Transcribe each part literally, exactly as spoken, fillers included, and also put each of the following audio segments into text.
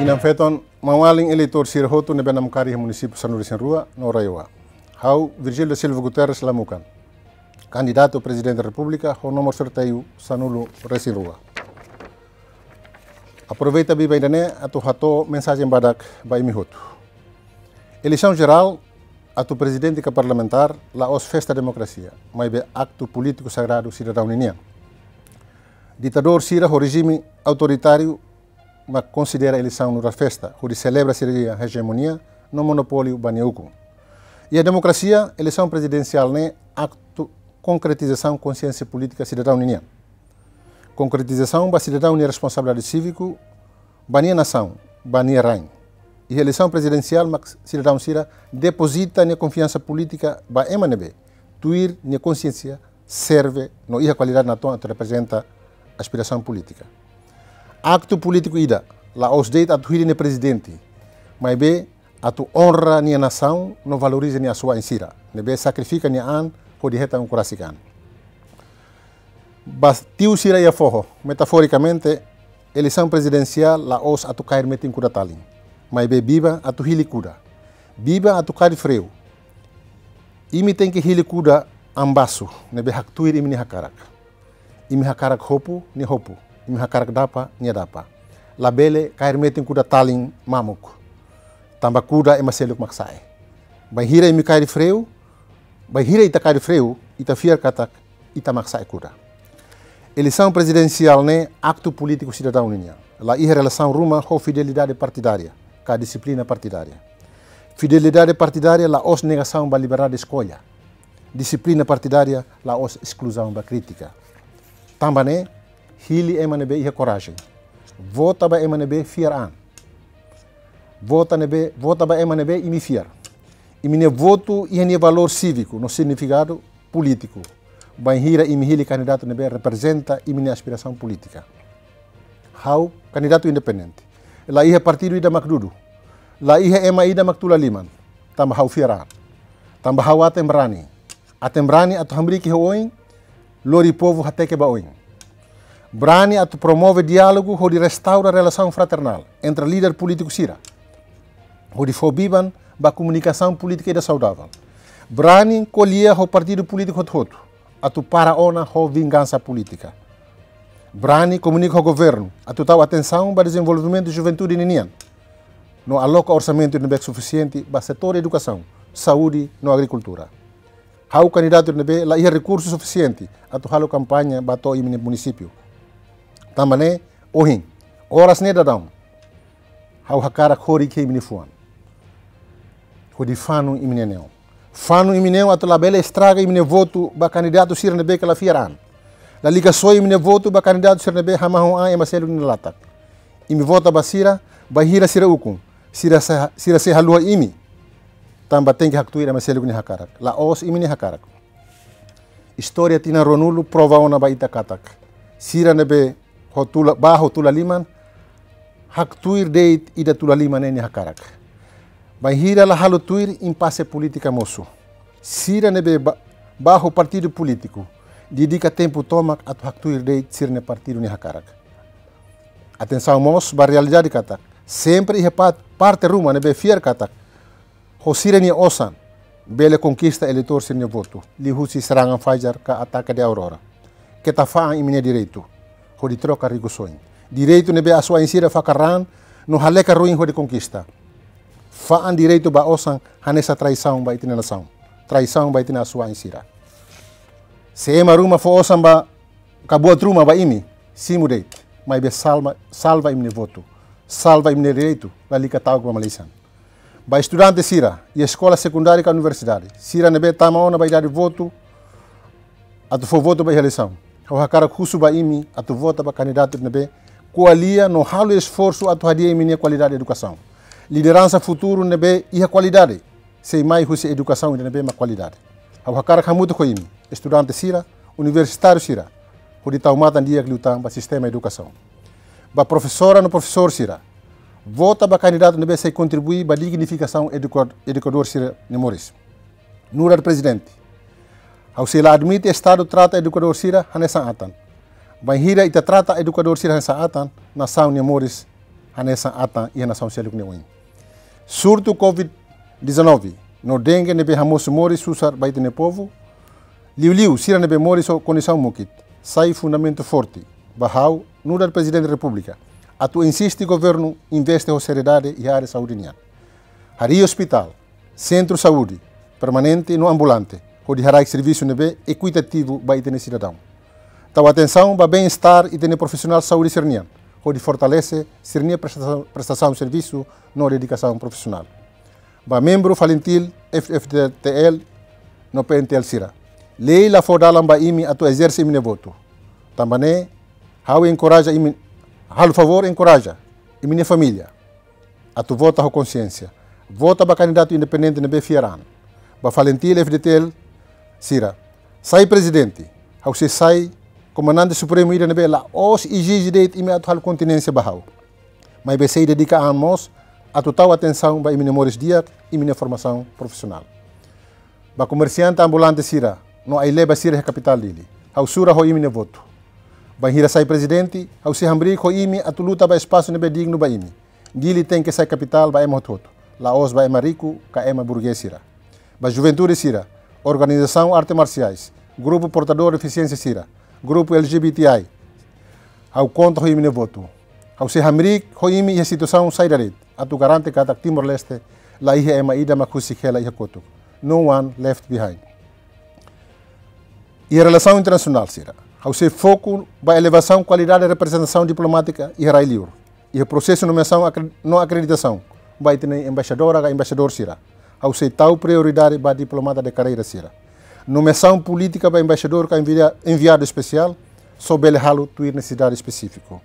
Inan-feton, maun-alin eleitór sira hotu ne'ebé namkari iha munisípiu sanulu-resin-rua no RAEOA. Ha'u Virgílio da Silva Guterres Lamukan, kandidatu Prezidente Repúblika ho númeru sorteiu sanulu-resin-rua. Aproveita biban ida-ne'e atu hato'o mensajen badak ba imi hotu. Eleisaun jerál atu prezidente ka parlamentár la'ós festa demokrasia, maibé aktu polítiku sagradu sidadaun ninian. Ditadór sira ho rejime autoritáriu mak konsidera eleisaun nu'udar festa, hodi selebra sira-nia ejemonia no monopóliu ba nia ukun. Iha demokrasia, eleisaun prezidensiál ne'e aktu konkretizasaun konsiénsia polítika sidadaun ninian. Konkretizasaun ba sidadaun nia responsabilidade síviku ba nia nasaun, ba nia rain. Iha eleisaun prezidensiál mak sidadaun sira depozita nia konfiansa polítika ba ema ne'ebé tuir nia konsiénsia serve no iha kualidade natoon atu reprezenta aspirasaun polítika. Aktu polítiku ida la'ós de'it atu hili nia prezidente, maibé atu onra nia nasaun no valoriza nia asuwa'in sira ne'ebé sakrifika nia an hodi hetan ukun rasik an. Ba tiu sira iha foho, metaforikamente, eleisaun prezidensiál la'ós atu kaer metin kuda talin, maibé biban atu hili kuda, biban atu kaer freu. Imi tenke hili kuda an basu ne'ebé haktuir imi-nia hakarak. Imi hakarak hopu, nia hopu. Imi hakarak dapa, nia dapa. Labele kaer metin kuda talin mamuk. Tanba kuda ema seluk mak sa'e. Bainhira imi kaer freu, bainhira ita kaer freu, ita fiar katak ita mak sa'e kuda. Eleisaun prezidensiál ne'e aktu polítiku sidadaun ninian. La iha relasaun ruma ho fidelidade partidária ka dixiplina partidária. Fidelidade partidária la'ós negasaun ba liberdade eskolla. Dixiplina partidária la'ós eskluzaun ba krítika. Tanba ne'e, hili ema ne'ebé iha korajen. Vota ba ema ne'ebé fiar an. Vota ne'ebé, vota ba ema ne'ebé imi fiar. Imi-nia votu iha nia valór síviku no signifikadu polítiku. Bainhira imi hili kandidatu ne'ebé reprezenta imi-nia aspirasaun polítika. Ha'u kandidatu independente. La iha partidu ida mak dudu. La iha ema ida mak tula liman. Tanba ha'u fiar an. Tanba ha'u aten brani. Aten brani atu hamriik iha oin, lori povu hateke ba oin. Brani atu promove diálogu hodi restaura relasaun fraternál entre líder polítiku sira, hodi fó biban ba komunikasaun polítika ida saudavel. Brani ko'alia ho partidu polítiku hotu-hotu atu para ona ho vingansa polítika. Brani komunika ho governu atu tau atensaun ba dezenvolvimentu juventude ninian no aloka orsamentu ne'ebé sufisiente ba setór edukasaun, saúde no agrikultura. Ha'u kandidatu ne'ebé la iha rekursu sufisiente atu halo kampaña ba to'o imi-nia munisípiu. Tanba ne'e, ohin, oras ne'e daudaun, ha'u hakarak horik iha imi-nia fuan hodi fanu imi-nia neon. Fanu imi-nia neon atu labele estraga imi-nia votu ba kandidatu sira ne'ebé ke la fiar an. Lalika soi imi-nia votu ba kandidatu sira ne'ebé hamahon an ema seluk nia latak. Imi vota ba sira, bainhira sira ukun, sira sei, sira sei haluha imi. Tanba tenke haktuir ema seluk nia hakarak, la'ós imi-nia hakarak. Istória tinan ruanulu prova ona ba ita katak sira ne'ebé ho tula, bá ho tula liman, haktuir de'it ida tula liman ne'e nia hakarak. Bainhira la halo tuir, impase polítika mosu. Sira ne'ebé bá, bá ho partidu polítiku, dedika tempu tomak atu haktuir de'it sira-nia partidu nia hakarak. Atensaun mós ba realidade katak sempre iha pa-, parte ruma ne'ebé fiar katak ho sira-nia osan bele konkista eleitór sira-nia votu, liuhusi serangan fajar ka atake de Aurora. Keta fa'an imi-nia direitu hodi troka rikusoin. Direitu ne'ebé asuwa'in sira fakar raan no haleka ruin hodi konkista. Fa'an direitu ba osan hanesan traisaun ba ita-nia nasaun, traisaun ba ita-nia asuwa'in sira. Se ema ruma fó osan ba ka buat ruma ba imi, simu de'it, maibé salva, salva imi-nia votu, salva imi-nia direitu, lalika ta'uk ba malisan. Ba estudante sira iha eskola sekundária ka universidade, sira ne'ebé tama ona ba idade votu atu fó votu ba iha eleisaun, ha'u hakarak husu ba imi atu vota ba kandidatu ne'ebé ko'alia no halo esforsu atu hadi'a imi-nia kualidade edukasaun. Lideransa futuru ne'ebé iha kualidade sei mai husi edukasaun ida ne'ebé mak kualidade. Ha'u hakarak hamutuk ho imi, estudante sira, universitáriu sira, hodi tau matan di'ak liután ba sistema edukasaun. Ba profesora no profesór sira, vota ba kandidatu ne'ebé sei kontribui ba dignifikasaun eduka-, edukadór sira-nia moris. Nu'udar prezidente, ha'u sei la admite Estadu trata edukadór sira hanesan atan. Bainhira ita trata edukadór sira hanesan atan, nasaun nia moris hanesan atan iha nasaun seluk nia oin. Surtu COVID dezanove no dengue ne'ebé hamosu moris susar ba ita-nia povu, liuliu sira ne'ebé moris ho kondisaun mukit, sai fundamentu forte ba ha'u nu'udar Prezidente Repúblika atu insiste governu investe ho seriedade iha área saúde nian. Harii ospitál, sentru saúde permanente no ambulante, hodi haraik servisu ne'ebé ekuitativu ba ita-nia sidadaun. Tau atensaun ba bem-estar ita-nia profisionál saúde sira-nian, hodi fortalese sira-nia prestasaun, prestasaun servisu no dedikasaun profisionál. Ba membru FALINTIL, F-FDTL no PNTL sira, lei la fó dalan ba imi atu ezerse imi-nia votu. Tanba ne'e, ha'u enkoraja imi, halo favór enkoraja imi-nia família atu vota ho konsiénsia. Vota ba kandidatu independente ne'ebé fiar an. Ba FALINTIL, F-FDTL sira, sai prezidente, ha'u sei sai komandante supremu ida ne'ebé la'ós ezije de'it imi atu halo kontinénsia ba ha'u. Maibé sei dedika an mós atu tau atensaun ba imi-nia moris di'ak, imi-nia formasaun profisionál. Ba komersiante ambulante sira no ai-leba sira iha kapitál Dili, ha'u sura ho imi-nia votu. Bainhira sai prezidente, ha'u sei hamriik ho imi atu luta ba espasu ne'ebé dignu ba imi. Dili tenke sai kapitál ba ema hotu-hotu, la'ós ba ema riku ka ema burgués sira. Ba juventude sira, organizasaun arte marsiais, grupu portadór defisiénsia sira, grupu L G B T I, ha'u konta ho imi-nia votu. Ha'u sei hamriik ho imi iha situasaun saida de'it atu garante katak Timor-Leste laiha ema ida mak husik hela iha kotuk. No one left behind. Iha relasaun internasionál sira, ha'u sei foku ba elevasaun kualidade reprezentasaun diplomátika iha rai-liur. Iha prosesu nomeasaun akre-, no akreditasaun ba ita-nia embaixadora ka embaixadór sira, ha'u sei tau prioridade ba diplomata de karreira sira. Nomeasaun polítika ba embaixadór ka envia-, enviadu espesiál só bele halo tuir nesesidade espesífiku.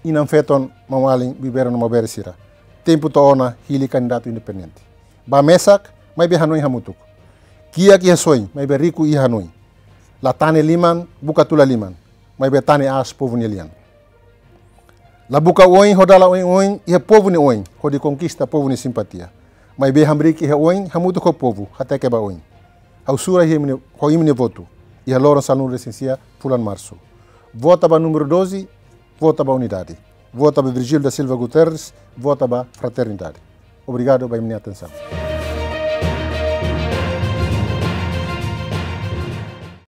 Inan-feton, maun-alin, bibi-rua no maubere sira, tempu to'o ona hili kandidatu independente. Bá mesak, maibé hanoin hamutuk. Kiak iha soin, maibé riku iha hanoin. La tane liman, buka tula liman, maibé tane aas povu nia lian. La buka oin ho dala oin-oin iha povu nia oin, hodi konkista povu nia simpatia. Maibé hamriik iha oin hamutuk ho povu, hateke ba oin. Ha'u sura iha imi-nia, ho imi-nia votu iha loron sanulu-resin-sia fulan Marsu. Vota ba númeru doze, vota ba unidade. Vota ba Virgílio da Silva Guterres, vota ba fraternidade. Obrigadu ba imi-nia atensaun.